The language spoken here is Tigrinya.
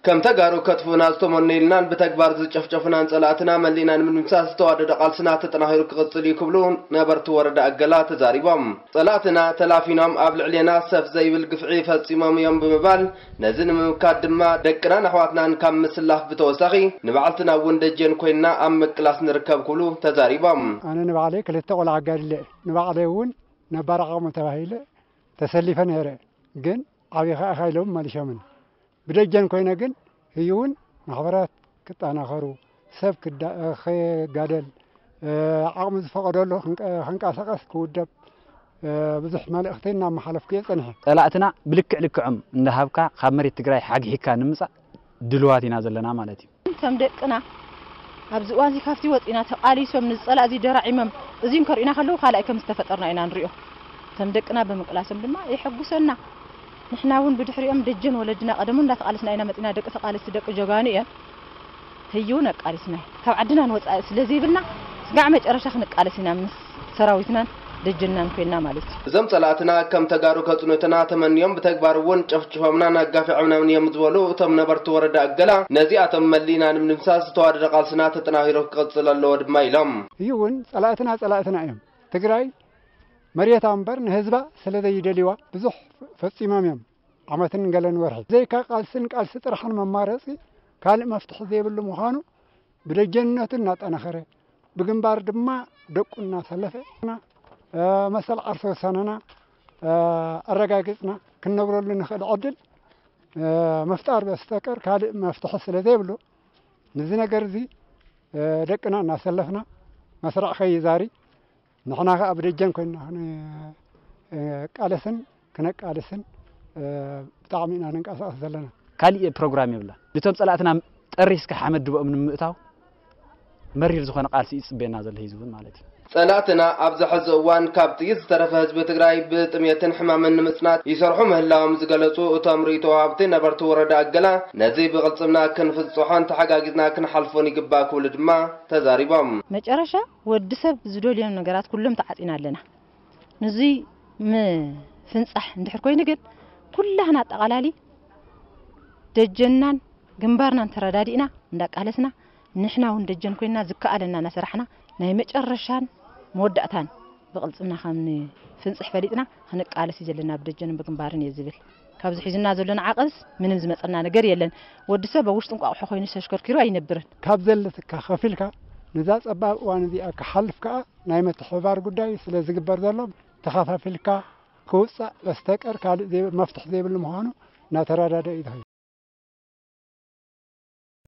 ከም ተጋሩ ከጥፍኡና ዝተመነዩልናን ብተግባር ዝጨፍጨፉናን ጸላእትና መሊእና ንምድምሳስ ዝተዋደደ ቃልስና ተጠናኺሩ ክቕጽል እዩ ክብሉ ነበርቲ ወረዳ ኣገላ ተዛሪቦም። ጸላእትና ተላፊኖም ኣብ ልዕሌና ሰፍ ዘይብል ግፍዒ ፈጺሞም እዮም ብምባል፣ ነዚ ንምምካት ድማ ደቅናን ኣሕዋትናን ካብ ምስላፍ ብተወሳኺ ንባዕልትና እውን ደጀን ኮይንና ኣብ ምቅላስ ንርከብ ክብሉ ተዛሪቦም። ኣነ ንባዕለይ ክልተ ቆልዓ ኣጋዲለ እየ። ንባዕለይ እውን ነባር ዓቕሚ ተባሂለ ተሰሊፈ ነይረ። ግን ዓብኻ ኢኻ ኢሎም መሊሾምን። ብደጀን ኮይነ ግን ህዩ እውን ማሕበራት ክጠናኸሩ፣ ሰብ ክዳ-፣ ክጋደል፣ ዓቕሚ ዝፈቐደሉ ክንቀ-፣ ክንቀሳቐስ ክውደብ ብዙሕ መልእኽቲ እናመሓለፍኩ እየ ጸኒሐ። ጸላእትና ብልክዕ ልክዖም እንዳሃብካ ካብ መሬት ትግራይ ሓግሒግካ ንምጻእ ድልዋት ኢና ዘለና ማለት እዩ። ከም ደቅና ኣብዚ እዋን እዚ ካብቲ ወፂና ተቓሊሶም ንዝፀላእ እዚ ደራዒሞም እዚም ከርእዩና ከለዉ ካልኣይ ከም ዝተፈጠርና ኢና ንሪኦ። ከም ደቅና ብምቅላሶም ድማ የሐጉሰና። ንሕና እውን ብድሕሪኦም ደጀን ወለድና ቀደሙ እንዳተቓለስና ኢና መፂና። ደቂ ተቓለስቲ ደቂ ጀጋኑ እዮም። ህዩ እውን ኣቃሊስና ካብ ዓድና ንወፃኢ ስለ ዘይብልና ስጋዕ መጨረሻ ክንቃለስ ኢና ምስ ሰራዊትናን ደጀናን ኮይና ማለት እዩ። እዞም ጸላእትና ከም ተጋሩ ከጽኑትና ተመንዮም ብተግባር እውን ጨፍጭፎምናን ኣጋፊዖምናን እዮም ዝበሉ እቶም ነበርቲ ወረዳ ኣገላ፣ ነዚኣቶም መሊእና ንምድምሳስ ዝተዋደደ ቃልስና ተጠናኺሩ ክቕጽል ኣለዎ ድማ ኢሎም። እዩ እውን ጸላእትና ጸላእትና እዮም። ትግራይ መሬታ እምበር ንህዝባ ስለ ዘይደልይዋ ብዙሕ ፈጺሞም እዮም። ዓመትን ገለን ወርሒ ዘይካ ቃልስን ቃልሲ ጥራሕን መማረፂ ካልእ መፍትሒ ዘይብሉ ምዃኑ ብደጀንነቱ እናጠናኸረ፣ ብግንባር ድማ ደቁ እናሰለፈ፣ እ፣ መሰል ዓርሰ ውሳነና፣ እ፣ ኣረጋጊጽና ክንነብረሉ ንኽእል ዕድል፣ እ፣ ምፍጣር በስተቀር ካልእ መፍትሒ ስለ ዘይብሉ፣ ነዚ ነገር እዚ፣ እ፣ ደቅና እናሰለፍና መስርዕ ከይዛሪ፣ ንሕና ኸኣ ብደጀን ኮይንና ክንቃለስን ክነቃልስን፣ እ፣ ብጣዕሚ ኢና ንንቀሳቐስ ዘለና። ካሊእ ፕሮግራም የብላን። ነቶም ጸላእትና ጠሪስካ ሓመድ ድቦኦም ንምእታው መሪር ዝኾነ ቃልሲ እዩ ዝጽበየና ዘሎ ህዝቢ እውን ማለት እዩ። ጸላእትና ኣብዚ ሕዚ እዋን ካብ ጥይት ዝተረፈ ህዝቢ ትግራይ ብጥሜትን ሕማምን ንምጽናት ይሰርሑ ምህላዎም ዝገለጹ እቶም ርእይቶ ወሃብቲ ነበርቲ ወረዳ ኣገላ፣ ነዚ ብቕልጽምና ክንፍጽሖን ተሓጋጊዝና ክንሓልፎን ይግባእ ክብሉ ድማ ተዛሪቦም። መጨረሻ ወዲ ሰብ ዝደልዮም ነገራት ኩሎም ተዓጺና ኣለና። ንዙይ ምፍንጻሕ እንድሕር ኮይኑ ግን ኩላህና ኣጠቓላሊ ደጀንናን ግንባርናን ተረዳዲእና እንዳቃለስና ንሕና እውን ደጀን ኮይንና ዝከኣለና እናሰራሕና ናይ መጨረሻን መወዳእታን ብቕልጽምና ከም ንፍንጽሕ ፈሊጥና ክንቃለስ እዩ ዘለና ብደጀንን ብግንባርን እየ ዝብል። ካብዚ ሒዝና ዘለና ዓቐብስ ምንም ዝመጸና ነገር የለን። ወዲ ሰብ ኣብ ውሽጢ እንቋቑሖ ኮይኑ ተሽከርኪሩ ኣይነብርን። ካብ ዘለትካ ከፊልካ ነዛ ጸባብ እዋን እዚኣ ክሓልፍ ከኣ ናይ ምትሕብባር ጉዳይ ስለ ዝግበር ዘሎ ተኸፋፊልካ ክውጻእ በስተቀር ካልእ ዘይ-፣ መፍትሒ ዘይብሉ ምዃኑ እናተረዳደ እዩ ዝኸይድ።